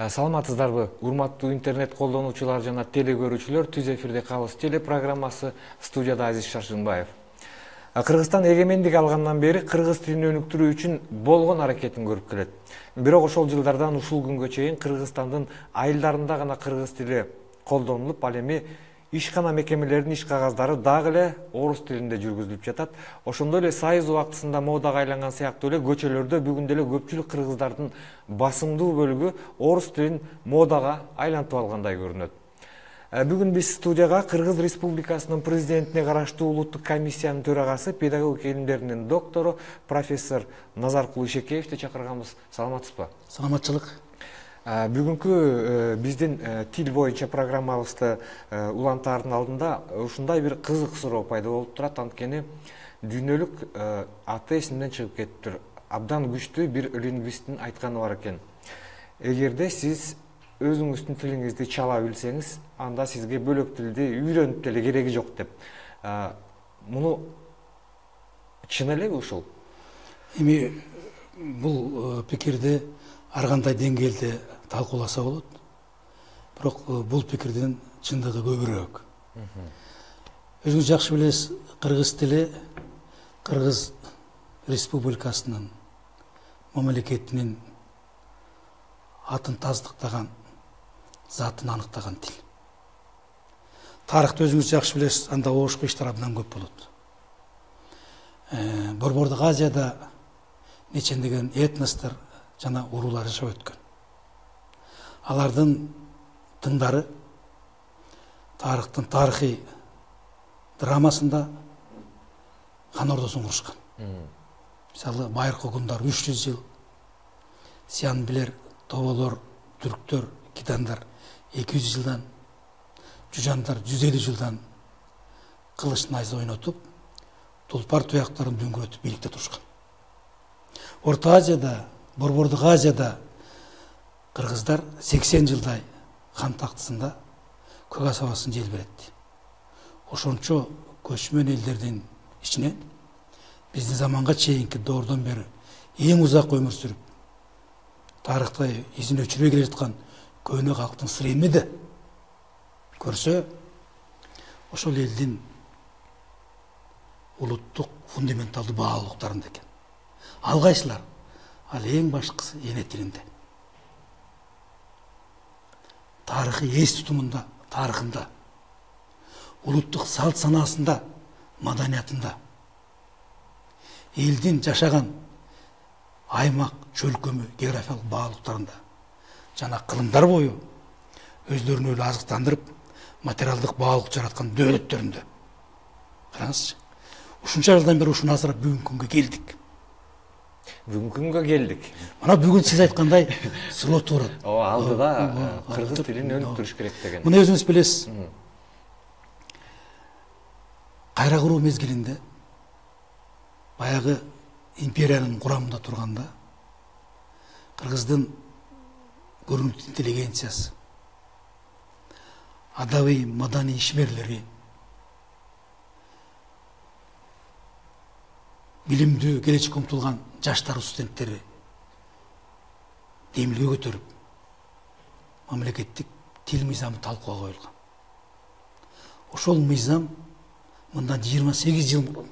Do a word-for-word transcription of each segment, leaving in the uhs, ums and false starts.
Саламатсыздарбы, урматтуу интернет колдонуучулар жана теле көрүүчүлөр. Түз эфирде калыс теле программасы, студияда Азиз Шаршынбаев. Кыргызстан эгемендик алгандан бери кыргыз тилин өнүктүрүү үчүн болгон аракетин көрүп келет. Бирок ошол жылдардан ушул күнгө чейин Кыргызстандын айылдарында гана кыргыз тили колдонулуп, ал эми ишкана мекемелердин иш кагаздары дагы эле орус тилинде жүргүзүлүп жатат. Ошондой эле сайыз убактысында модага айланган сыяктуу эле көчөлөрдө бүгүн деле көпчүлүк кыргыздардын басымдуу бөлүгү орус тилин модага айлантып алгандай көрүнөт. Бүгүн биз студияга Кыргыз Республикасынын президентине караштуу улуттук комиссиянын төрагасы, педагогика илимдеринин доктору профессор Назаркул Ишекеевди чакырганбыз. Саламатсызбы? Саламатчылык. Бүгүнкү биздин тил боюнча программабызды улантаардын алдында ушундай бир кызык суроо пайда болуп турат. Анткени дүйнөлүк аты эсимден чыгып кетиптир. Абдан күчтүү бир лингвисттин айтканы бар экен. Эгерде сиз өзүңүздүн тилиңизди чала билсеңиз, анда сизге бөлөк тилди үйрөнүп деле кереги жок деп. Муну чын элеби ушул? Эми бул пикирди ар кандай деңгээлде талкууласа болот. Бирок бул пикирдин чындыгы көбүрөөк. Өзүңүз жакшы билесиз, кыргыз тили Кыргыз Республикасынын мамлекетинин атын таздыктаган, затын аныктаган тил. Тарыхты өзүңүз жакшы билесиз, анда оошко иштер абдан көп болот. Борбордук Азияда нечендеген этностор жана уруулар жашап өткөн. Алардын тыңдары тарыхтын тарыхый драмасында хан ордосун курушкан. Мисалы, байыркы гундар үч жүз жыл, сиян билер, тоболор, түрктөр, кидандар эки жүз жылдан, жужандар жүз элүү жылдан кылыч найза ойнотуп, тулпар туяктарын дөңгөрөтүп бийликте турушкан. Орто Азияда, Борбордук Азияда кыргыздар сексен жылдай хан тактысында көк асабасын желбиретти. Ошончо көчмөн элдердин ичинен биздин заманга чейинки доордон бери эң узак өмүр сүрүп, тарыхта изин өчүрбөй келе жаткан көөнө калктын сыры эмнеде көрсө, ошол элдин улуттук фундаменталдуу баалуулуктарында экен. Ал кайсылар? Ал эң башкысы эне тилинде. Тарыхый эс тутумунда, тарыхында, улуттук салт санаасында, маданиятында, элдин жашаган аймак, чөлкөмү, географиялык баалуулуктарында жана кылымдар бою өздөрүн эле азыктандырып, материалдык баалуулук жараткан дөөлөттөрүндө. Караңызчы. Ушунча жылдан бери ушуну асырап бүгүнкү күнгө келдик. Бүгүнкү күнгө келдик. Мына бүгүн сиз айткандай суроо турат. О, алдыда кыргыз тилин өнүктүрүш керек деген. Муну өзүңүз билесиз. Кайра куруу мезгилинде баягы империянын курамында турганда кыргыздын көрүнүктүү интеллигенциясы, адабий маданий ишмерлери, билимдүү, келечекке умтулган жаштар, студенттери демилге көтөрүп, мамлекеттик тил мыйзамы талкууга коюлган. Ошол мыйзам мындан жыйырма сегиз жыл мурун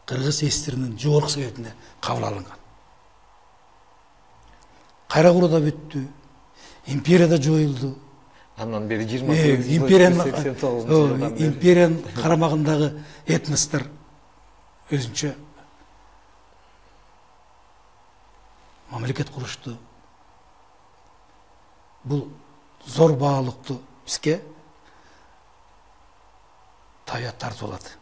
Кыргыз эстеринин жогорку советинде кабыл алынган. Кайра куруу да бүттү, империя да жоюлду. Андан бери жыйырма сегиз жыл, сексен тогузунчу жылдан бери империянын карамагындагы этностор өзүнчө мамлекет курушту. Бул зор баалуулукту бизге табият тартып алат.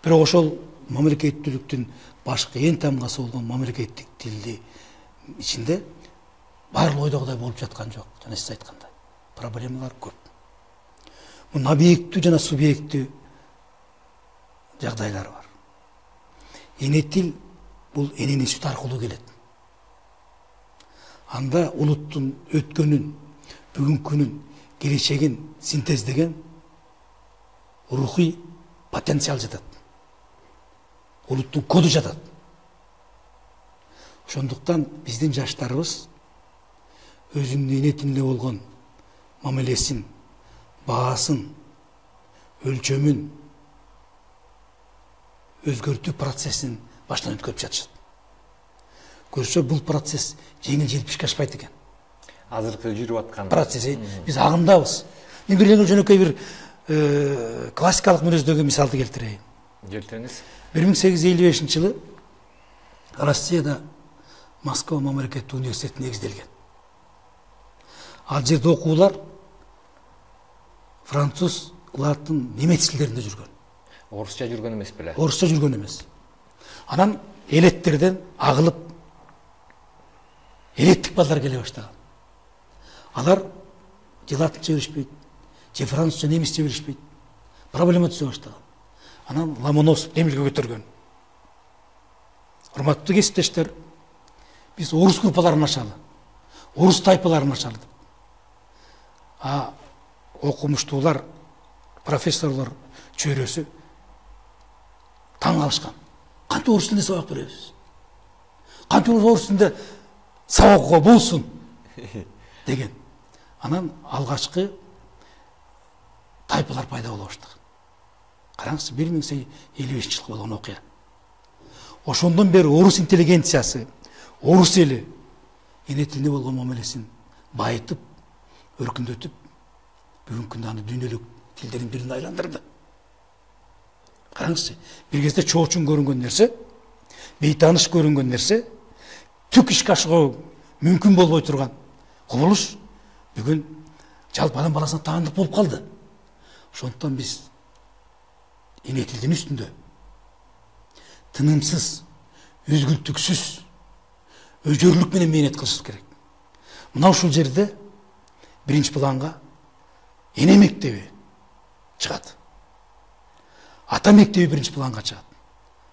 Бирок ошол мамлекеттүүлүктүн башкы эң тамгасы болгон мамлекеттик тилди ичинде баары ойдогудай болуп жаткан жок. Жана сиз айткандай, проблемалар көп. Мунун объекттүү жана субъекттүү жагдайлары бар. Эне тил бул эненин сүтү аркылуу келет. Анда улуттун өткөнүн, бүгүнкүнүн, келечегин синтездеген рухий потенциал жатат. Улуттун коду жатат. Ошондуктан биздин жаштарыбыз өзүнүн эне тилинде болгон мамилесин, баасын, өлчөмүн өзгөртүү процессин баштан өткөрүп жатышат. Көрсө бул процесс жеңил желпишке ашпайт экен. Азыркы жүрүп аткан процесс. Биз агымдабыз. Мен бир эле жөнөкөй бир классикалык мүнөздөгү мисалды келтирейин. Келтириңиз. бир миң сегиз жүз элүү бешинчи жылы Россияда Москва мамлекеттик университети негизделген. Ал жерде окуулар француз, латын, немец тилдеринде жүргөн. Орусча жүргөн эмес беле? Орусча жүргөн эмес. Анан элеттерден агылып элеттик балдар келе баштаган. Алар же латынча билишпейт, же французча, немисче билишпейт. Проблема түзө баштаган. Анан Ломоносов демилге көтөргөн. Урматтуу кесиптештер, биз орус группаларын ачалы, орус тайпаларын ачалы деп. А окумуштуулар, профессорлор чөйрөсү таң калышкан. Кантип орус тилинде сабак беребиз? Кантип орус тилинде сабак болсун деген. Анан алгачкы тайпалар пайда боло баштаган. Караңызчы, бир миң сегиз жүз элүү бешинчи жылы болгон окуя. Ошондон бери орус интеллигенциясы, орус эли эне тилине болгон мамилесин байытып, өркүндөтүп, бүгүнкү күндө аны дүйнөлүк тилдердин бирине айландырды. Караңызчы, бир кезде чоочун көрүнгөн нерсе, бейтааныш көрүнгөн нерсе, түк ишке ашыруу мүмкүн болбой турган кубулуш бүгүн жалпы адам баласына таандык болуп калды. Ошондуктан биз эне тилдин үстүндө тынымсыз, үзгүлтүксүз, өжөрлүк менен мээнет кылышыбыз керек. Мына ушул жерде биринчи планга эне мектеби чыгат. Ата мектеби биринчи планга чыгат.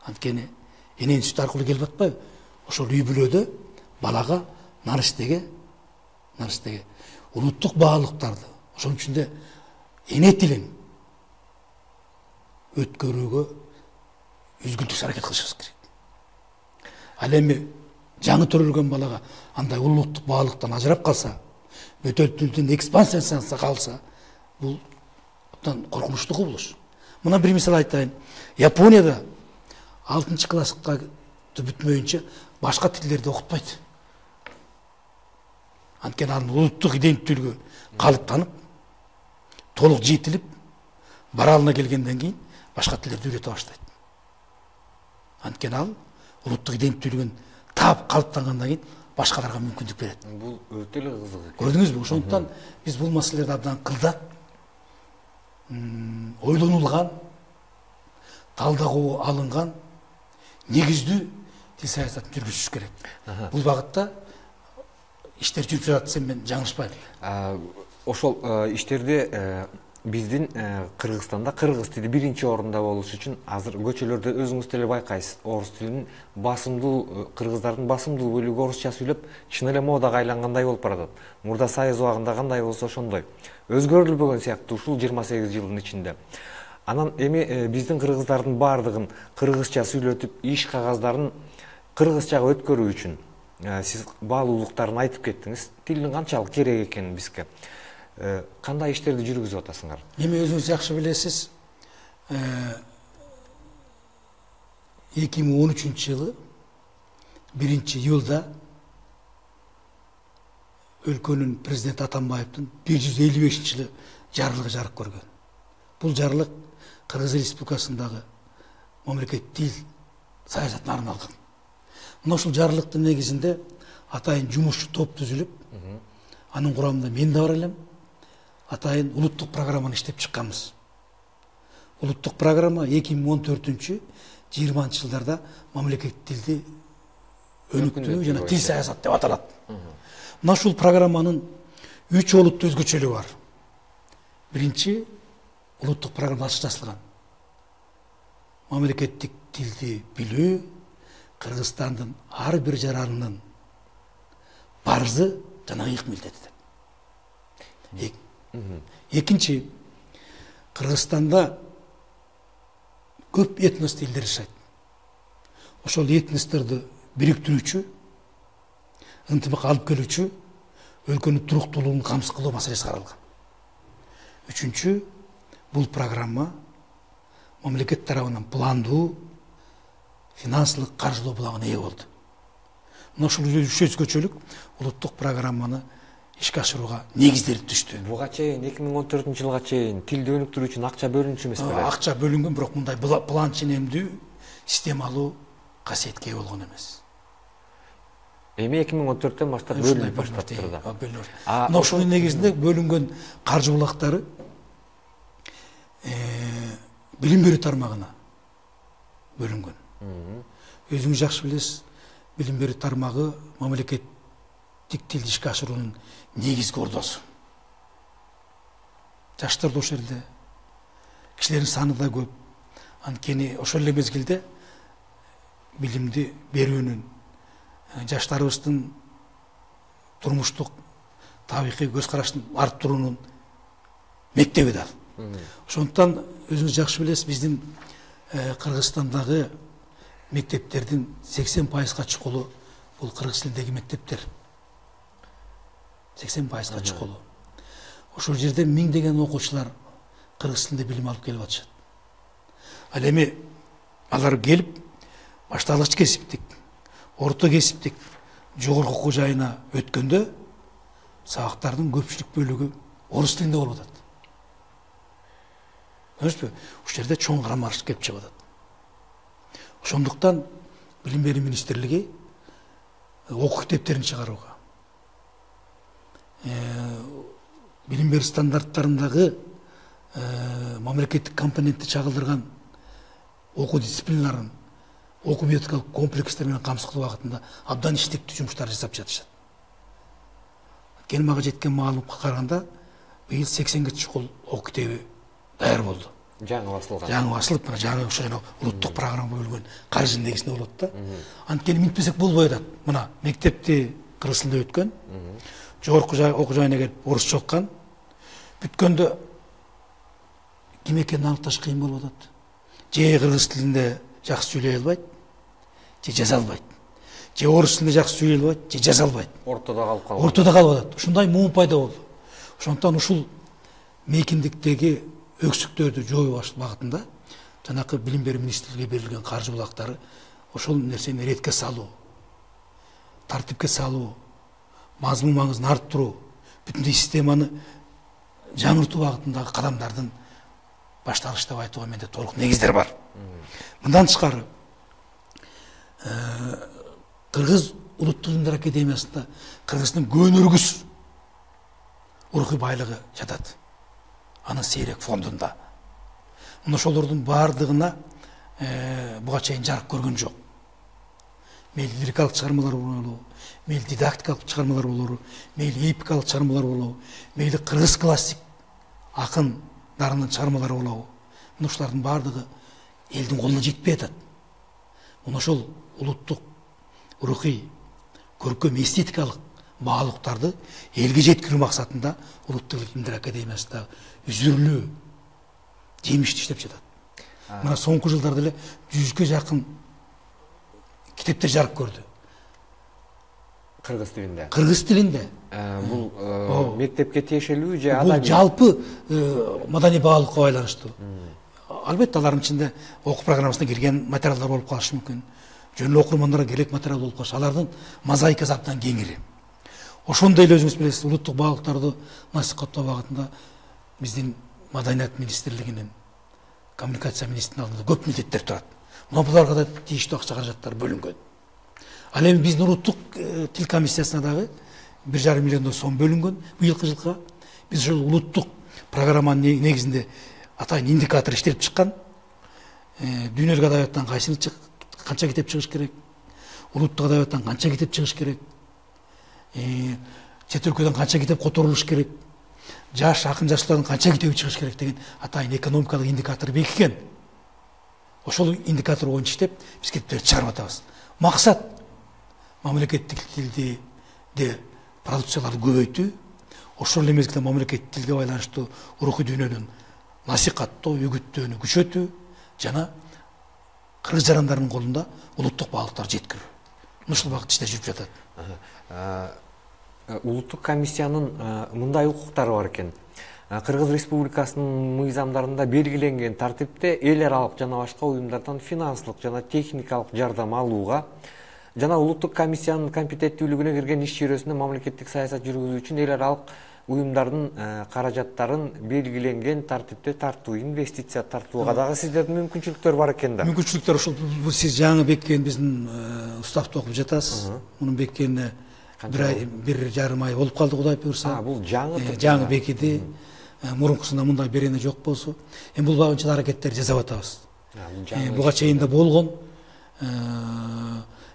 Анткени эненин сүтү аркылуу келип атпайбы? Ошол үй бүлөдө балага наристеге, наристеге улуттук баалыктарды, ошонун ичинде эне тилин өткөрүүгө үзгүлтүксүз аракет кылышыбыз керек. Ал эми жаңы төрөлгөн балага андай улуттук баалыктан ажырап калса, бөтөл тилдин экспансиясына калса, бул коркунучтуу кубулуш. Мына бир мисал айтайын. Японияда алтынчы класска бүтмөйүнчө башка тилдерди окутпайт. Анткени анын улуттук иденттүүлүгү калыптанып, толук жетилип, баралына келгенден кийин башка тилдерди үйрөтө баштайт. Анткени ал улуттук иденттүүлүгүн таап калыптангандан кийин башкаларга мүмкүндүк берет. Бул өтө эле кызык. Көрдүңүзбү? Ошондуктан биз бул маселелерди абдан кылдат, ойлонулган, талдагуу алынган, негиздүү тил саясатын жүргүзүш керек. Бул багытта иштер жүрүп жатат десем мен жаңылышпайм. Ошол иштерде биздин Кыргызстанда кыргыз тили биринчи орунда болуш үчүн азыр көчөлөрдө өзүңүз деле байкайсыз. Орус тилинин басымдуу, кыргыздардын басымдуу бөлүгү орусча сүйлөп, чын эле модага айлангандай болуп баратат. Мурда Союз убагында кандай болсо ошондой. Өзгөрүлбөгөн сыяктуу ушул жыйырма сегиз жылдын ичинде. Анан эми биздин кыргыздардын баардыгын кыргызча сүйлөтүп, иш кагаздарын кыргызчага өткөрүү үчүн сиз баалуулуктарын айтып кеттиңиз. Тилдин канчалык керек экенин бизге. Кандай иштерди жүргүзүп атасыңар? Эми өзүңүз жакшы билесиз, эки миң он үчүнчү жылы биринчи июлда өлкөнүн президенти Атамбаевдин бир жүз элүү бешинчи жылы жарлыгы жарык көргөн. Бул жарлык Кыргыз Республикасындагы мамлекеттик тил саясатына арналган. Мына ушул жарлыктын негизинде атайын жумушчу топ түзүлүп, анын курамында мен да бар элем. Атайын улуттук программаны иштеп чыкканбыз. Улуттук программа эки миң он төртүнчү жыйырманчы жылдарда мамлекеттик тилди өнүктүрүү жана тил саясат деп аталат. Мына ушул программанын үч олуттуу өзгөчөлүгү бар. Биринчи, улуттук программа ачык жазылган. Мамлекеттик тилди билүү Кыргызстандын ар бир жаранынын парызы жана ыйык милдети. Экинчи, Кыргызстанда көп этнос элдер жашайт. Ошол этносторду бириктирүүчү, ынтымак алып келүүчү өлкөнүн туруктуулугун камсыз кылуу маселеси каралган. Үчүнчү, бул программа мамлекет тарабынан пландуу финансылык каржылоо булагына ээ болду. Мына ушул үч өзгөчөлүк улуттук программаны ишке ашырууга негиздери түштү. Буга чейин эки миң он төртүнчү жылга чейин тилди өнүктүрүү үчүн акча бөлүнчү эмес беле? Акча бөлүнгөн, бирок мындай план ченемдүү, системалуу касиетке ээ болгон эмес. Эми эки миң он төрттөн баштап бөлүнүп баштаптыр да. Мына ушунун негизинде бөлүнгөн каржы булактары билим берүү тармагына бөлүнгөн. Өзүңүз жакшы билесиз, билим берүү тармагы мамлекеттик тилди ишке ашыруунун негизги ордосу. Жаштар да ошол жерде, кишилердин саны да көп. Анткени ошол эле мезгилде билимди берүүнүн, жаштарыбыздын турмуштук табигый көз карашын арттыруунун мектеби да. Ошондуктан өзүңүз жакшы билесиз, биздин Кыргызстандагы мектептердин сексен пайызга чукулу бул кыргыз тилиндеги мектептер. сексен пайызга чукулу. Ошол жерде миңдеген окуучулар кыргыз тилинде билим алып келип атышат. Ал эми алар келип башталгыч кесиптик, орто кесиптик, жогорку окуу жайына өткөндө сабактардын көпчүлүк бөлүгү орус тилинде болуп атат. Көрдүңүзбү? Ушул жерде чоң карамарыш келип чыгып атат. Ошондуктан билим берүү министрлиги окуу китептерин чыгарууга, билим берүү стандарттарындагы мамлекеттик компонентти чагылдырган окуу дисциплиналарын окуу методикалык комплекстер менен камсыз кылуу багытында абдан иштиктүү жумуштар жасап жатышат. Кен мага жеткен маалыматка караганда быйыл сексенге чукул окуу китеби даяр болду. Жаңы басылган. Жаңы басылып, мына жаңы ошо жана улуттук программа бөлгөн каржы негизинде болот да. Анткени минтпесек болбой атат. Мына мектепти кыргыз тилинде өткөн, жогорку окуу жайына келип орусча оккан, бүткөндө ким экенин аныкташ кыйын болуп атат. Же кыргыз тилинде жакшы сүйлөй албайт, же жаза албайт. Же орус тилинде жакшы сүйлөй албайт, же жаза албайт. Ортодо калып калат. Ортодо калып атат. Ушундай муун пайда болду. Ошондуктан ушул мейкиндиктеги өксүктөрдү жоюу багытында жанакы билим берүү министрлигине берилген каржы булактары ошол нерсени ретке салуу, тартипке салуу, мазмун маңызын арттыруу, бүтүндөй системаны жаңыртуу багытындагы кадамдардын башталышы деп айтууга менде толук негиздер бар. Мындан тышкары Кыргыз улуттук илимдер академиясында Кыргыздын көнөргүс урухий байлыгы жатат. Анын сейрек фондунда. Мына ошолордун баардыгына буга чейин жарык көргөн жок. Мейли лирикалык чыгармалар болобу, мейли дидактикалык чыгармалар болобу, мейли эпикалык чыгармалар болобу, мейли кыргыз классик акындарынын чыгармалары болобу. Мына ушулардын баардыгы элдин колуна жетпей атат. Мына ошол улуттук урухий көркөм эстетикалык баалыктарды элге жеткирүү максатында улуттук илимдер академиясында үзүрлүү жемиштүү иштеп жатат. Мына соңку жылдарда эле жүзгө жакын китептер жарык көрдү. Кыргыз тилинде. Кыргыз тилинде. Бул мектепке тиешелүү же бул жалпы маданий баалыкка байланыштуу. Албетте алардын ичинде окуу программасына кирген материалдар болуп калышы мүмкүн. Жөн эле окурмандарга керек материал болуп калышы. Алардын мозаикасы абдан кеңири. Ошондой эле өзүңүз билесиз, улуттук баалыктарды насихаттоо багытында биздин Маданият министрлигинин, коммуникация министринин алдында көп милдеттер турат. Мына буларга да тийиштүү акча каражаттар бөлүнгөн. Ал эми биздин улуттук тил комиссиясына дагы бир жарым миллион сом бөлүнгөн быйылкы жылга. Биз ошол улуттук программанын негизинде атайын индикатор иштелип чыккан. Дүйнөлүк адабияттан кайсыны канча китеп чыгыш керек, улуттук адабияттан канча китеп чыгыш керек, чет өлкөдөн канча китеп которулуш керек, жаш акын жаштардын канча китеби чыгыш керек деген атайын экономикалык индикатор бекиген. Ошол индикатор боюнча иштеп, биз китептерди чыгарып атабыз. Максат мамлекеттик тилди де продукцияларды көбөйтүү, ошол эле мезгилде мамлекеттик тилге байланыштуу урухий дүйнөнүн насихаттоо, үгүттөөнү күчөтүү жана кыргыз жарандарынын колунда улуттук баалыктарды жеткирүү. Ушул багытта иштер жүрүп жатат. улуттук комиссиянын мындай укуктары бар экен. Кыргыз Республикасынын мыйзамдарында белгиленген тартипте эл аралык жана башка уюмдардан финансылык жана техникалык жардам алууга жана улуттук комиссиянын компетенттүүлүгүнө кирген иш чөйрөсүндө мамлекеттик саясат жүргүзүү үчүн эл аралык уюмдардын каражаттарын белгиленген тартипте тартуу, инвестиция тартууга дагы сиздердин мүмкүнчүлүктөр бар экен да. Мүмкүнчүлүктөр ушул сиз жаңы беккен биздин уставды окуп жатасыз. Мунун беккенине бир ай, бир жарым ай болуп калды, Кудай буйрса. А, бул жаңы жаңы бекиди. Мурункусунда мындай берене жок болсо, эми бул багынча аракеттерди жасап атабыз. Буга чейин да болгон.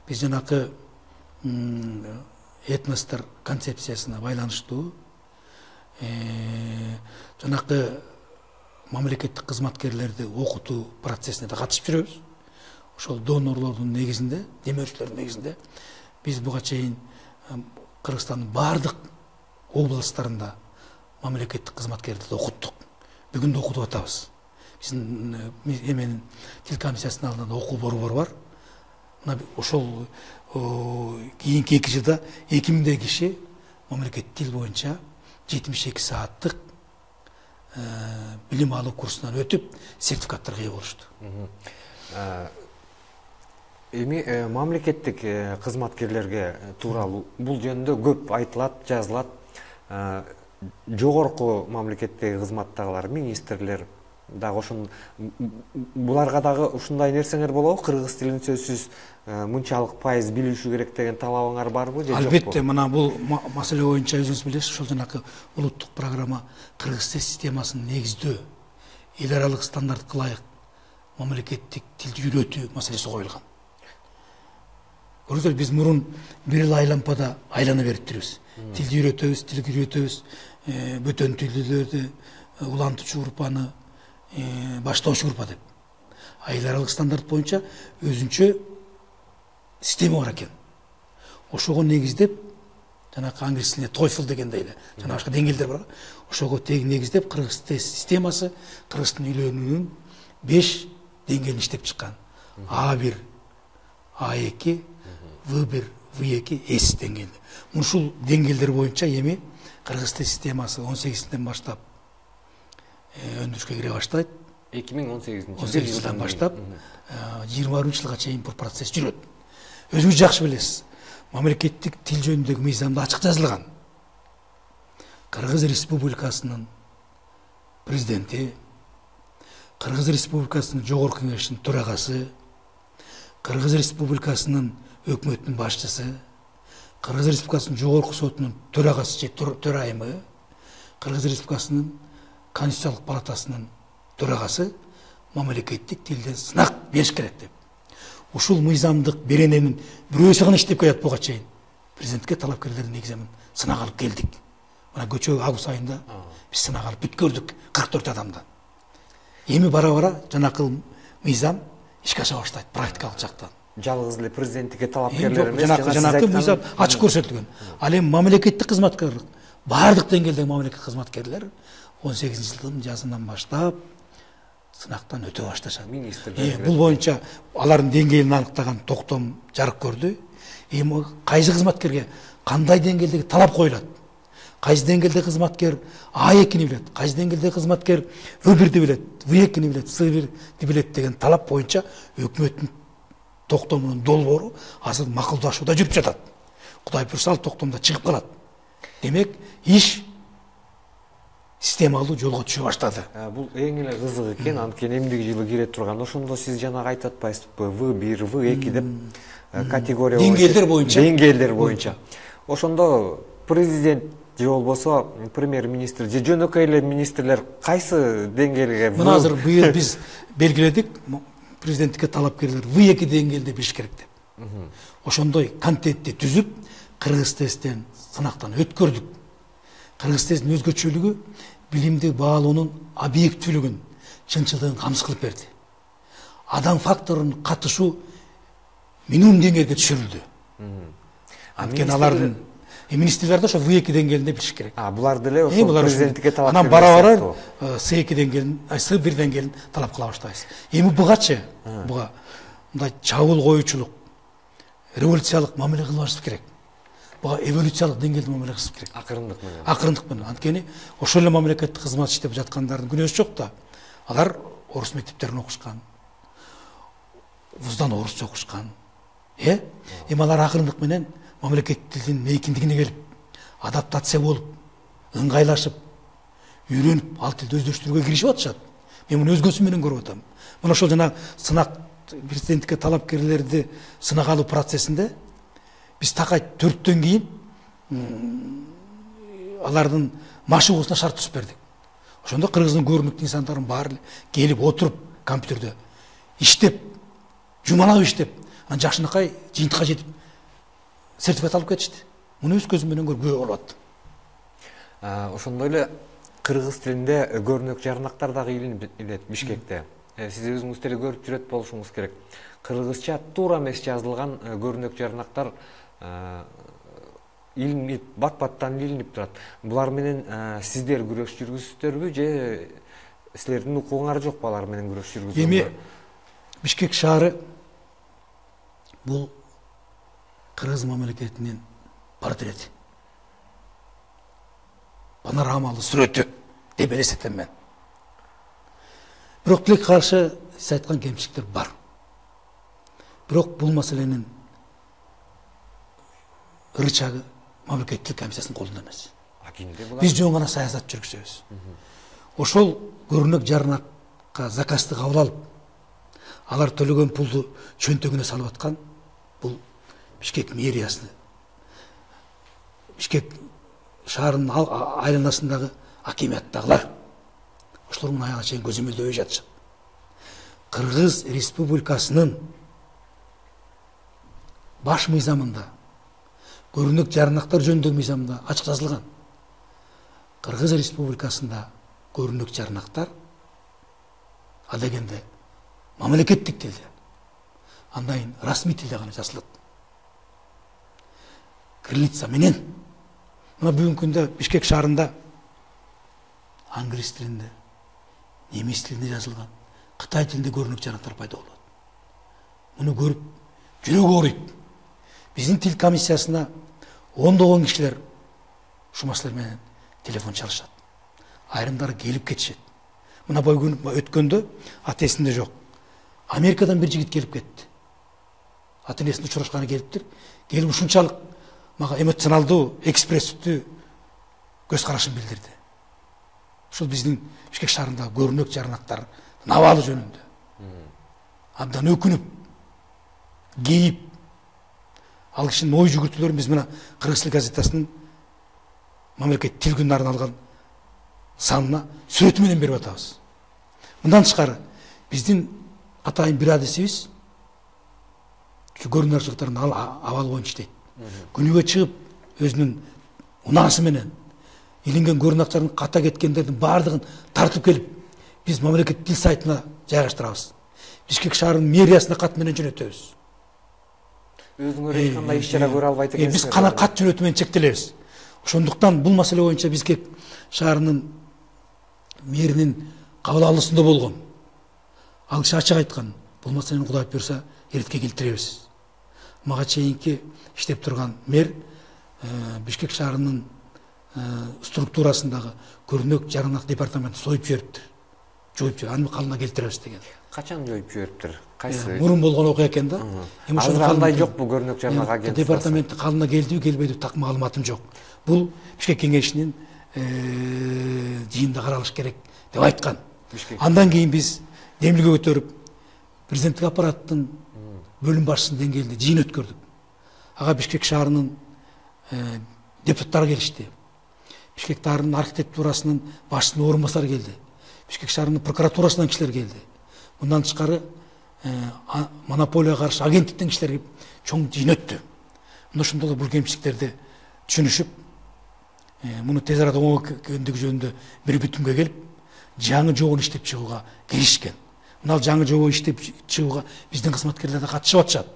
Биз жанакы этностор концепциясына байланыштуу жанакы мамлекеттик кызматкерлерди окутуу процессине да катышып жүрөбүз. Ошол донорлордун негизинде, демөөрчүлөрдүн негизинде биз буга чейин Кыргызстандын бардык областтарында мамлекеттик кызматкерлерди окуттук. Бүгүн да окутуп атабыз. Биздин эменин тил комиссиясынын алдында окуу борбору бар. Мына ошол кийинки эки жылда эки миңдей киши мамлекеттик тил боюнча жетимиш эки сааттык билим алуу курсунан өтүп, сертификаттарга ээ болушту. Эми мамлекеттик кызматкерлерге тууралуу бул жөнүндө көп айтылат, жазылат. Жогорку мамлекеттеги кызматтагылар, министрлер дагы ошон буларга дагы ушундай нерсеңер болобу? Кыргыз тилин сөзсүз мынчалык пайыз билишүү керек деген талабыңар барбы же жокпу? Албетте, мына бул маселе боюнча өзүңүз билесиз, ошол жанакы улуттук программа кыргыз тил системасын негиздөө, эл аралык стандартка ылайык мамлекеттик тилди үйрөтүү маселеси коюлган. Көрүңүздөр, биз мурун бир эл айлампада айлана берип жүрөбүз. Тилди үйрөтөбүз, тилди үйрөтөбүз, бөтөн тилдүүлөрдү, улантуучу группаны, баштоочу группа деп. Эл аралык стандарт боюнча өзүнчө система бар экен. Ошого негиздеп, жанакы англис тилинде TOEFL дегендей эле, жана башка деңгээлдер бар. Ошого тең негиздеп кыргыз тил системасы кыргыз тилин үйрөнүүнүн беш деңгээлин иштеп чыккан. А бир, А эки, В бир, В эки, С деңгээлде. Ушул деңгээлдер боюнча эми кыргыз тил системасы он сегизинден баштап өндүрүшкө кире баштайт. эки миң он сегизинчи жылдан баштап жыйырма биринчи жылга чейин бул процесс жүрөт. Өзүңүз жакшы билесиз, мамлекеттик тил жөнүндөгү мыйзамда ачык жазылган. Кыргыз Республикасынын президенти, Кыргыз Республикасынын жогорку кеңешинин төрагасы, Кыргыз Республикасынын өкмөттүн башчысы, Кыргыз Республикасынын жогорку сотунун төрагасы же төрайымы, Кыргыз Республикасынын Конституциялык палатасынын төрагасы мамлекеттик тилден сынак бериш керек деп. Ушул мыйзамдык берененин бирөөсү гана иштеп келет буга чейин. Президентке талапкерлердин негизинен сынак алып келдик. Мына көчө август айында биз сынак алып бүткөрдүк кырк төрт адамдан. Эми бара-бара жанакы мыйзам ишке аша баштайт практикалык жактан. Жалгыз эле президенттикке талапкерлер эмес, жанакы жанакы мыйзам ачык көрсөтүлгөн. Ал эми мамлекеттик кызматкерлер, бардык деңгээлдеги мамлекеттик кызматкерлер он сегизинчи жылдын жазынан баштап сынактан өтө башташат. Бул боюнча алардын деңгээлин аныктаган токтом жарык көрдү. Эми кайсы кызматкерге кандай деңгээлдеги талап коюлат? Кайсы деңгээлдеги кызматкер А экини билет, кайсы деңгээлдеги кызматкер В бирди билет, В экини билет, С бирди билет деген талап боюнча өкмөттүн токтомунун долбоору азыр макулдашууда жүрүп жатат. Кудай буйрса ал токтомдо чыгып калат. Демек, иш системалуу жолго түшө баштады. Бул эң эле кызык экен, анткени эмдиги жылы кире турган. Ошондо сиз жанагы айтып атпайсызбы, В бир, В эки деп категория деңгээлдер боюнча. Деңгээлдер боюнча. Ошондо президент же болбосо премьер-министр же жөнөкөй эле министрлер кайсы деңгээлге? Мына азыр быйыл биз белгиледик, президенттикке талапкерлер В эки деңгээлде билиш керек деп. Ошондой контентти түзүп, кыргыз тесттен сынактан өткөрдүк. Кыргыз тесттин өзгөчөлүгү билимди баалоонун объективдүүлүгүн, чынчылдыгын камсыз кылып берди. Адам факторунун катышуу минимум деңгээлге түшүрүлдү. Анткени алардын министрлер да ошо В эки деңгээлинде билиш керек. А буларды эле ошо президенттикке талап анан бара-бара С эки деңгээлин, С бир деңгээлин талап кыла баштайбыз. Эми бугачы, буга мындай чабуул коюучулук, революциялык мамиле кылбашыбыз керек. буга эволюциялык деңгээлде мамиле кылыш керек. Акырындык менен. Акырындык менен. Анткени ошол эле мамлекеттик кызмат иштеп жаткандардын күнөөсү жок да. Алар орус мектептерин окушкан. Вуздан орусча окушкан. Э? Эми алар акырындык менен мамлекеттик тилдин мейкиндигине келип, адаптация болуп, ыңгайлашып, үйрөнүп, ал тилди өздөштүрүүгө киришип атышат. Мен муну өзгөсү менен көрүп атам. Мына ошол жана сынак президенттикке талапкерлерди сынак алуу процессинде биз такай төрттөн кийин алардын машыгуусуна шарт түзүп бердик. Ошондо кыргыздын көрүнүктүү инсандардын баары келип отуруп компьютерде иштеп, жумалап иштеп, анан жакшынакай жыйынтыкка жетип сертификат алып кетишти. Муну өз көзүм менен көрүп болуп аттым. Ошондой эле кыргыз тилинде көрүнөк жарнактар дагы илет Бишкекте. Сиз өзүңүз деле көрүп жүрөт болушуңуз керек. Кыргызча туура эмес жазылган көрүнөк жарнактар илинип, бат-баттан илинип турат. Булар менен сиздер күрөш жүргүзүптөрбү же силердин укугуңар жокпу алар менен күрөш жүргүзүүгө? Эми Бишкек шаары бул кыргыз мамлекетинин портрети. Панорамалуу сүрөтү деп элестетем мен. Бирок тилек каршы сиз айткан кемчиликтер бар. Бирок бул маселенин рычагы мамлекеттик комиссиясынын колунда эмес. Биз жөн гана саясат жүргүзөбүз. Ошол көрүнөк жарнакка заказды кабыл алып, алар төлөгөн пулду чөнтөгүнө салып аткан бул Бишкек мэриясы. Бишкек шаарынын айланасындагы акимияттагылар. Ошолор мына аяга чейин көзөмөлдөбөй жатышат. Кыргыз Республикасынын баш мыйзамында, көрүнөк жарнактар жөнүндөгү мыйзамында ачык жазылган. Кыргыз Республикасында көрүнөк жарнактар адегенде мамлекеттик тилде, андайын расмий тилде гана жазылат. Кириллица менен. Мына бүгүнкү күндө Бишкек шаарында англис тилинде, немис тилинде жазылган, Кытай тилинде көрүнөк жарнактар пайда болот. Муну көрүп жүрөгү ооруйт. Биздин тил комиссиясына ондогон кишилер ушул маселе менен телефон чалышат. Айрымдары келип кетишет. Мына бой өткөндө аты эсимде жок. Америкадан бир жигит келип кетти. Ата энесине учурашканы келиптир. Келип ушунчалык мага эмоционалдуу, экспрессивдүү көз карашын билдирди. Ушул биздин Бишкек шаарындагы көрүнөк жарнактар абалы жөнүндө. Абдан өкүнүп, кейип, ал кишинин ой жүгүртүүлөрүн биз мына Кыргыз тил газетасынын мамлекет тил күнүнө арналган санына сүрөтү менен берип атабыз. Мындан тышкары биздин атайын бир адисибиз көрүнөк жарнактардын абалы боюнча иштейт. Күнүгө чыгып өзүнүн унаасы менен илинген көрүнөктөрдүн ката кеткендердин баардыгын тартып келип биз мамлекет тил сайтына жайгаштырабыз. Бишкек шаарынын мэриясына кат менен жөнөтөбүз. Өзүңөр эч кандай иш чара көрө албайт экенсиз. Биз кана кат жөнөтүү менен чектелебиз. Ошондуктан бул маселе боюнча Бишкек шаарынын мэринин кабыл алуусунда болгон. Ал киши ачык айткан, бул маселени Кудай буйрса эретке келтиребиз. Мага чейинки иштеп турган мэр Бишкек шаарынын структурасындагы көрүнөк жарнак департаментин союп жибериптир. Жоюп жиберип, аны калына келтиребиз деген. Качан жоюп жибериптир? Кайсы? Мурун болгон окуя экен да. Эми ошондо кандай жок бул көрүнөк жарнак агенттиги? Департаменттин калына келдиби, келбедиби так маалыматым жок. Бул Бишкек кеңешинин жыйынында каралыш керек деп айткан. Андан кийин биз демилге көтөрүп президенттик аппараттын бөлүм башчысынын деңгээлинде жыйын өткөрдүк. Ага Бишкек шаарынын депутаттары келишти. Бишкек шаарынын архитектурасынын башчысынын орун басары келди. Бишкек шаарынын прокуратурасынан кишилер келди. Мындан тышкары монополияга каршы агенттиктен кишилер келип чоң жыйын өттү. Мына ошондо бул кемчиликтерди түшүнүшүп, муну тез арада оңгөндүгү жөнүндө бир бүтүмгө келип, жаңы жобону иштеп чыгууга киришкен. Мына жаңы жобо иштеп чыгууга биздин кызматкерлер да катышып атышат.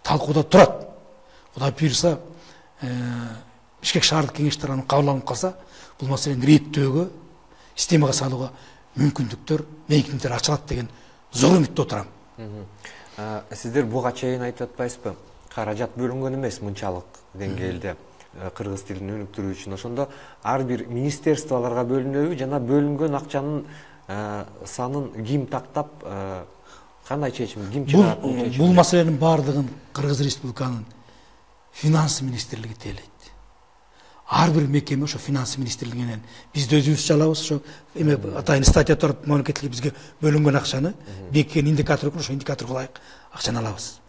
Талкууда турат. Кудай буйрса, Бишкек шаардык кеңеш тарабынан кабыл алынып калса, бул маселени реттөөгө, системага салууга мүмкүндүктөр, мейкиндиктер ачылат деген зор үмүттө отурам. Сиздер буга чейин айтып атпайсызбы? каражат бөлүнгөн эмес мынчалык деңгээлде кыргыз тилин өнүктүрүү үчүн. Ошондо ар бир министерстволорго бөлүнөбү жана бөлүнгөн акчанын санын ким тактап, кандай чечим, ким чыгарат? Бул маселенин баардыгын Кыргыз Республиканын финансы министрлиги тейлейт. Ар бир мекеме ошо финансы министрлигинен биз өзүбүз чалабыз, ошо эме атайын статья туруп мамлекеттик бизге бөлүнгөн акчаны бекиткен индикатор ошо индикаторго ылайык акчаны алабыз.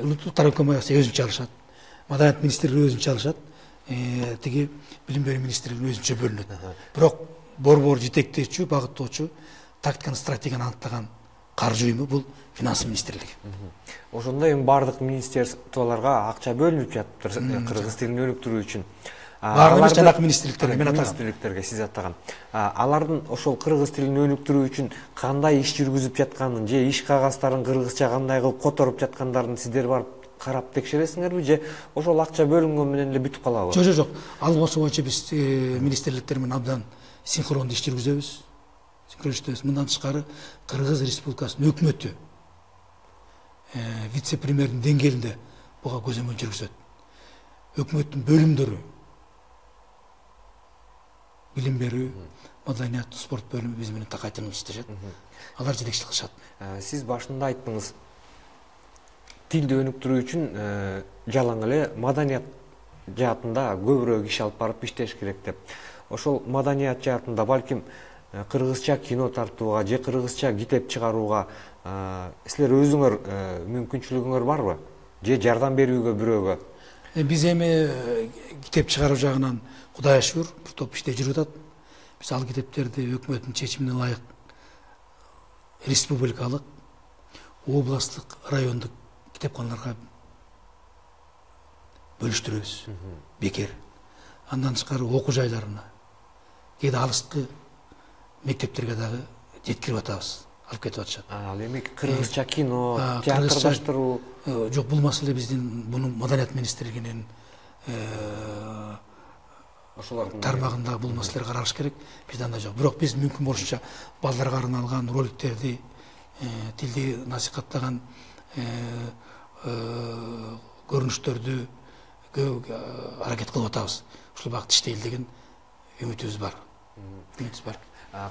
Улуттук тарап компаниясы өзүнчө алышат. Маданият министрлиги өзүнчө алышат. Тиги билим берүү министрлигине өзүнчө бөлүнөт. Бирок борбор жетектөөчү, багыттоочу, тактиканы, стратегияны аныктаган каржы уюму бул финансы министрлиги. Ошондо эми бардык министерстволорго акча бөлүнүп жатыптыр кыргыз тилин өнүктүрүү үчүн. Баардык жанакы министрликтерге мен атаган. Министрликтерге сиз атаган. Алардын ошол кыргыз тилин өнүктүрүү үчүн кандай иш жүргүзүп жатканын же иш кагаздарын кыргызча кандай кылып которуп жаткандарын сиздер барып карап текшересиңерби же ошол акча бөлүнгөн менен эле бүтүп калабы? Жок, жок, жок. Ал болсо боюнча биз министрликтер менен абдан синхрондуу иш жүргүзөбүз. Синхрондөбүз. Мындан тышкары Кыргыз Республикасынын өкмөтү вице-премьердин деңгээлинде буга көзөмөл жүргүзөт. Өкмөттүн бөлүмдөрү билим берүү, маданият, спорт бөлүмү биз менен такай тынымсыз иштешет. Алар жетекчилик кылышат. Сиз башында айттыңыз, тилди өнүктүрүү үчүн жалаң эле маданият жаатында көбүрөөк иш алып барып иштеш керек деп. Ошол маданият жаатында балким кыргызча кино тартууга же кыргызча китеп чыгарууга силер өзүңөр мүмкүнчүлүгүңөр барбы? Же жардам берүүгө бирөөгө? Биз эми китеп чыгаруу жагынан Кудайга шүгүр бир топ иште жүрүп атат. Биз ал китептерди өкмөттүн чечимине ылайык республикалык, областтык, райондук китепканаларга бөлүштүрөбүз. Бекер. Андан тышкары окуу жайларына, кээде алыскы мектептерге дагы жеткирип атабыз, алып кетип атышат. Ал эми кыргызча кино, театрдаштыруу. Жок, бул маселе биздин муну маданият министрлигинин ошолордун тармагында бул маселелер каралыш керек. Бизде андай жок. Бирок биз мүмкүн болушунча балдарга арналган роликтерди, тилди насихаттаган көрүнүштөрдү аракет кылып атабыз. Ушул багытта иштейли деген үмүтүбүз бар. Үмүтүбүз бар.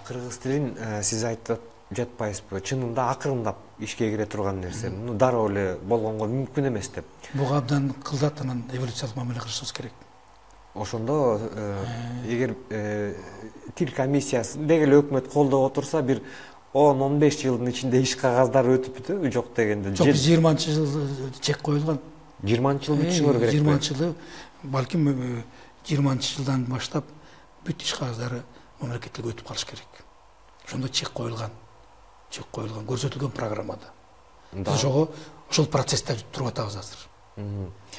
Кыргыз тилин сиз айтып жатпайсызбы? Чынында акырындап ишке кире турган нерсе. Муну дароо эле болгонго мүмкүн эмес деп. Буга абдан кылдат, анан эволюциялык мамиле кылышыбыз керек. Ошондо эгер тил комиссиясы деги эле өкмөт колдоп отурса, бир он он беш жылдын ичинде иш кагаздары өтүп бүтөбү, жок дегенде? Жок, биз жыйырманчы жыл чек коюлган. жыйырманчы жыл бүтүшүңөр керек. жыйырманчы жылы, балким жыйырманчы жылдан баштап бүт иш кагаздары мамлекеттиликке өтүп калыш керек. Ошондо чек коюлган. Чек коюлган, көрсөтүлгөн программада. Биз ошого ошол процессте туруп атабыз азыр.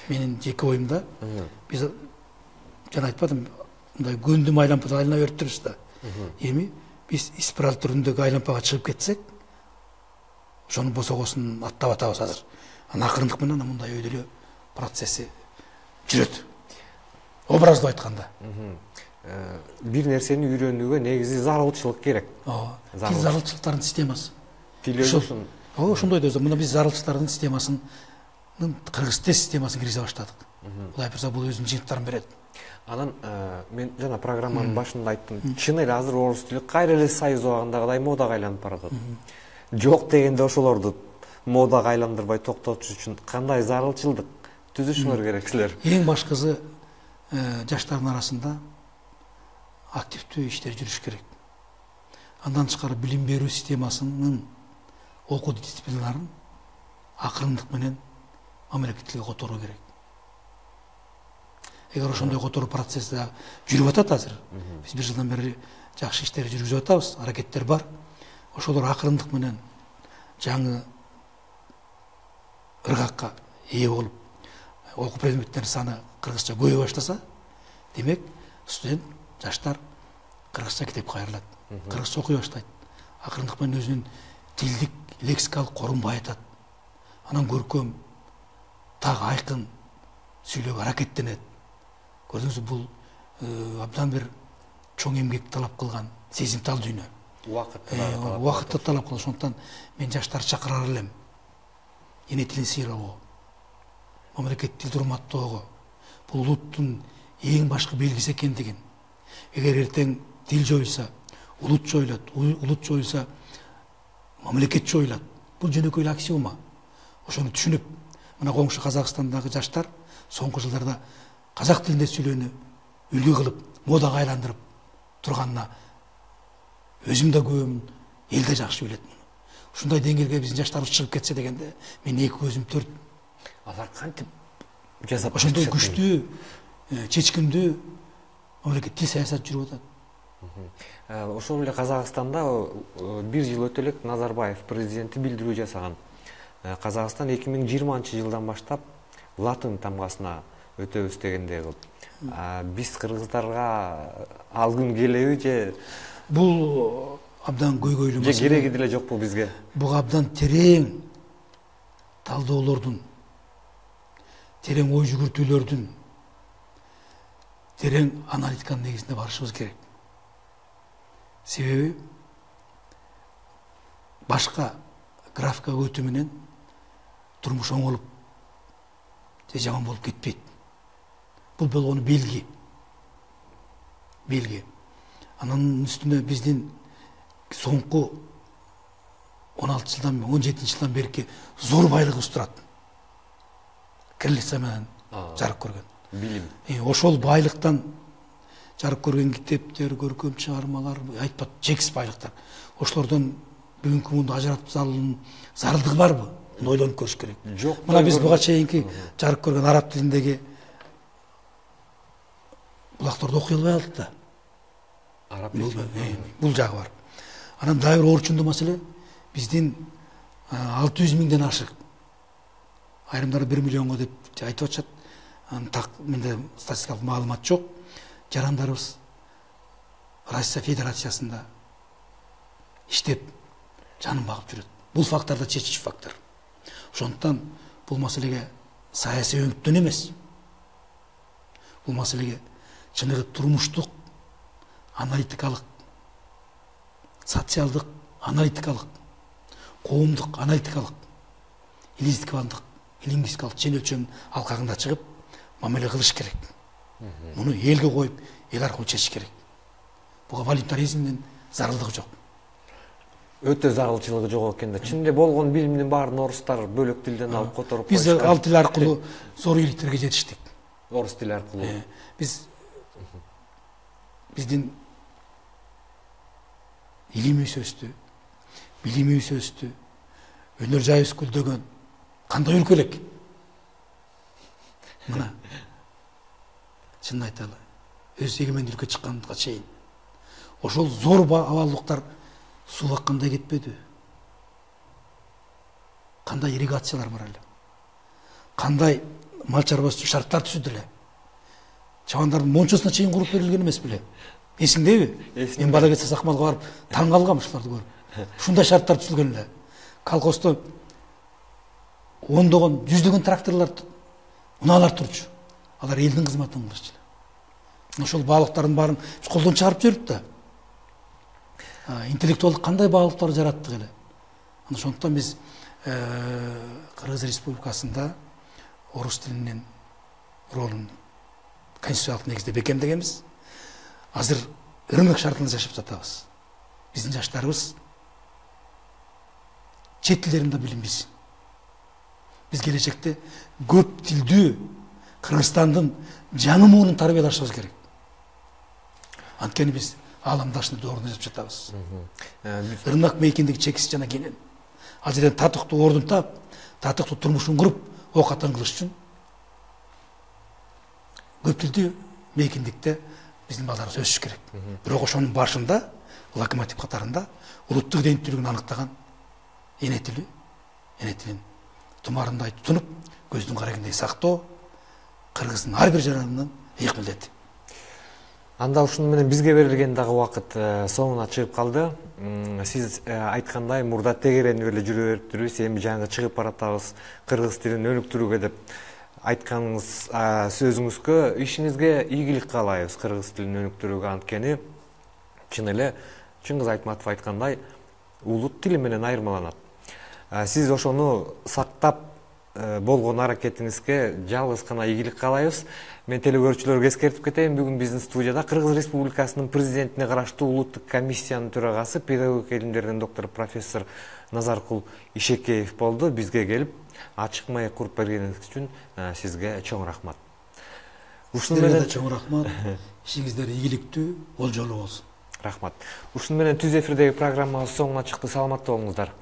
Менин жеке оюмда биз жана айтпадым, мындай көндүм айлампада айлана берип турбуз да. Эми биз спираль түрүндөгү айлампага чыгып кетсек, ошонун босогосун аттап атабыз азыр. Анан акырындык менен мындай өйдө эле процесси жүрөт. Образдуу айтканда. Бир нерсени үйрөнүүгө негизи зарылчылык керек. Ооба. Тил зарылчылыктардын системасы. Тил өзүн. Ооба, ошондой да. Мына биз зарылчылыктардын системасын, кыргыз тил системасын киргизе баштадык. Кудай буйрса бул өзүнүн жыйынтыктарын берет. Анан мен жана программанын башында айттым, чын эле азыр орус тили кайра эле Союз убагындагыдай модага айланып баратат. Жок дегенде ошолорду модага айландырбай токтотуш үчүн кандай зарылчылдык түзүшүңөр керек силер? Эң башкысы жаштардын арасында активдүү иштер жүрүш керек. Андан тышкары билим берүү системасынын окуу дисциплиналарын акырындык менен мамлекеттиликке которуу керек. Эгер ошондой которуу процесси жүрүп атат азыр, биз бир жылдан бери жакшы иштер жүргүзүп атабыз, аракеттер бар. Ошолор акырындык менен жаңы ыргакка ээ болуп, окуу предметтердин саны кыргызча көбөйө баштаса, демек студент, жаштар кыргызча китепке кайрылат, кыргызча окуй баштайт. Акырындык менен өзүнүн тилдик, лексикалык корун байытат. Анан көркөм, так айкын сүйлөөгө аракеттенет. Көрдүңүзбү, бул абдан бир чоң эмгек талап кылган сезимтал дүйнө. Убакытты талап кылат. Ошондуктан мен жаштарды чакырар элем. Эне тилин сыйрабоо, мамлекеттик тилди урматтоого, бул улуттун эң башкы белгиси экендигин, эгер эртең тил жоюлса, улут жоюлат, улут жоюлса, мамлекет жоюлат. Бул жөнөкөй эле аксиома. Ошону түшүнүп, мына коңшу Казакстандагы жаштар соңку жылдарда казак тилинде сүйлөөнү үлгү кылып, модага айландырып турганына өзүм да күбөмүн, эл да жакшы билет муну. Ушундай деңгээлге биздин жаштарыбыз чыгып кетсе дегенде, мен эки көзүм төрт. Алар кантип жасап ошондой күчтүү, чечкиндүү мамлекет тил саясат жүрүп атат. Ошол эле Казакстанда бир жыл өтө элек Назарбаев президенти билдирүү жасаган. Казакстан эки миң жыйырманчы жылдан баштап латын тамгасына өтөбүз дегендей кылып. Биз кыргыздарга ал күн келеби же бул абдан көйгөйлүү маселе? Же кереги деле жокпу бизге? Бул абдан терең талдоолордун, терең ой жүгүртүүлөрдүн, терең аналитиканын негизинде барышыбыз керек. Себеби башка графикага өтүү менен турмуш оңолуп же жаман болуп кетпейт. Бул болгону белги. Белги. Анын үстүнө биздин соңку он алты жылдан, он жетинчи жылдан берки зор байлыгыбыз турат. Кириллица менен жарык көргөн. Билим. Ошол байлыктан жарык көргөн китептер, көркөм чыгармалар, айтпат чексиз байлыктар. Ошолордон бүгүнкү мунду ажыратып салуунун зарылдыгы барбы? Муну ойлонуп көрүш керек. Жок. Мына биз буга чейинки жарык көргөн араб тилиндеги булактарды окуй албай калдык да. Араб бул жагы бар. Анан дагы бир орчундуу маселе, биздин алты жүз миңден ашык, айрымдары бир миллионго деп айтып атышат. Анын так менде статистикалык маалымат жок. Жарандарыбыз Россия Федерациясында иштеп жанын багып жүрөт. Бул факторда чечиш фактор. Ошондуктан бул маселеге саясий өңүттөн эмес. Бул маселеге чыныгы турмуштук, аналитикалык, социалдык, аналитикалык, коомдук, аналитикалык, лингвистикалык чен өлчөм алкагында чыгып мамиле кылыш керек. Муну элге коюп, эл аркылуу чечиш керек. Буга волюнтаризмдин зарылдыгы жок. Өтө зарылчылыгы жок экен да. Чынында болгон билимдин баарын орустар бөлөк тилден алып которуп Биз ал тил аркылуу зор ийгиликтерге жетиштик. Орус тили аркылуу. Биз биздин илимибиз өстү, билимибиз өстү, өнөр жайыбыз гүлдөгөн. Кандай өлкө элек? Мына чынын айталы, өз эгемендүү өлкө чыкканга чейин ошол зор абалдыктар сууга кандай кетпеди? Кандай ирригациялар бар эле? Кандай мал чарбасы үчүн шарттар түзүлдү эле? Чабандардын мончосуна чейин куруп берилген эмес беле? Эсиңдеби? Мен бала кезде Сакмалга барып таң калгам ушуларды көрүп. Ушундай шарттар түзүлгөн эле. Колхоздо ондогон, жүздөгөн тракторлор, унаалар турчу. Алар элдин кызматын кылышчу. Ошол баалыктардын баарын колдон чыгарып жибердик да. Интеллектуалдык кандай баалыктар жараттык эле. Ошондуктан биз Кыргыз Республикасында орус тилинин ролун конституциялык негизде бекемдегенбиз. Азыр рынок шартында жашап жатабыз. Биздин жаштарыбыз чет тилдеринде билим билсин. Биз келечекте көп тилдүү Кыргызстандын жаңы муунун тарбиялашыбыз керек. Анткени биз ааламдашны доорунда жашап жатабыз. Рынок мейкиндиги чексиз жана кенен. Ал жерден татыктуу ордун таап, татыктуу турмушун куруп, ок атын кылыш үчүн көп тилдүү мейкиндикте биздин балдарыбыз өсүш керек. Бирок ошонун башында, локомотив катарында улуттук иденттүүлүгүн аныктаган эне тили, эне тилин тумарындай тутунуп, көздүн карагындей сактоо кыргыздын ар бир жаранынын ыйык милдети. Анда ушуну менен бизге берилген дагы убакыт соңуна чыгып калды. Сиз айткандай мурда тегеренип эле жүрө бериптирбиз, эми жаңы чыгып баратабыз кыргыз тилин өнүктүрүүгө деп айтканыңыз сөзүңүзгө, ишиңизге ийгилик каалайбыз кыргыз тилин өнүктүрүүгө. Анткени чын эле Чыңгыз Айтматов айткандай улут тили менен айырмаланат. Сиз ошону сактап болгон аракетиңизге жалгыз гана ийгилик каалайбыз. Мен телекөрүүчүлөргө эскертип кетейин, бүгүн биздин студияда Кыргыз Республикасынын президентине караштуу улуттук комиссиянын төрагасы, педагогика илимдеринин доктору профессор Назаркул Ишекеев болду. Бизге келип ачык маек куруп бергениңиз үчүн сизге чоң рахмат. Ушуну менен чоң рахмат. Ишиңиздер ийгиликтүү, болжолуу болсун. Рахмат. Ушуну менен түз эфирдеги программабыз соңуна чыкты. Саламатта болуңуздар.